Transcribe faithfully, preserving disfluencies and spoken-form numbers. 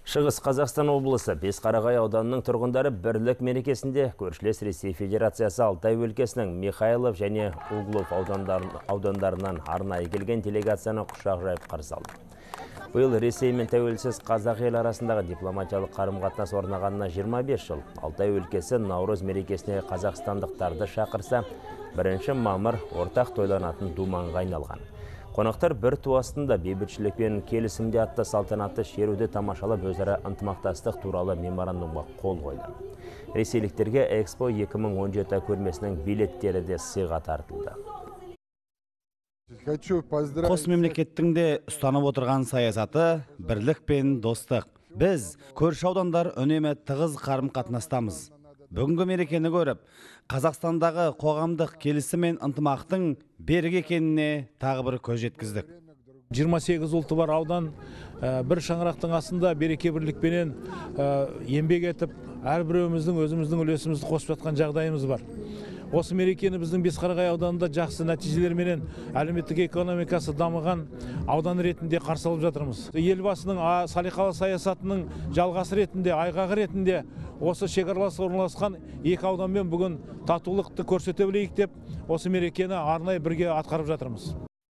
Шығыс Қазақстан облысы Бесқарағай ауданының тұрғындары бірлік мерекесінде көршілес Ресей Федерациясы Алтай өлкесінің Михайлов және Углов аудандарынан арнайы келген делегацияны құшақ жайып қарсы алды. Биыл Ресей мен тәуелсіз қазақ ел арасындағы дипломатиялық қарым-қатынас орнағанына жиырма бес жыл. Алтай өлкесі Наурыз мерекесіне қазақстандықтарды шақырса, бірінші мамыр ортақ тойланатын думанға айналған. Қонақтар бір ту астында бейбітшілік пен келісімде атты салтанатты шеруді тамашалап өзара ынтымақтастық туралы меморандумға қол қойды. Ресейліктерге Экспо екі мың он жеті көрмесінің билеттері де сыйға тартылды. Қос мемлекеттің де ұстанып отырған саясаты бірлік пен достық. Біз көрші аудандар үнемі тығыз қарым-қатынастамыз. Бүгінгі мерекені көріп, Қазақстандағы қоғамдық келісім мен ынтымақтың берік екеніне тағы бір көз жеткіздік. жиырма сегіз ұлты бар аудан бір шаңырақтың астында береке бірлікпенен еңбек етіп, әрбіреуіміздің өзіміздің үлесімізді қосып жатқан жағдайымыз бар. Осы мерекені біздің Бесқарағай ауданында жақсы нәтижелерменен әлеуметтік экономикасы дамыған аудан ретінде қарсы алып жатырмыз. Елбасының салиқалы саясатының жалғасы ретінде, айғағы ретінде осы шекаралас орналасқан екі ауданмен бүгін татулықты көрсете білейік деп, осы мерекені арнайы бірге атқарып жатырмыз.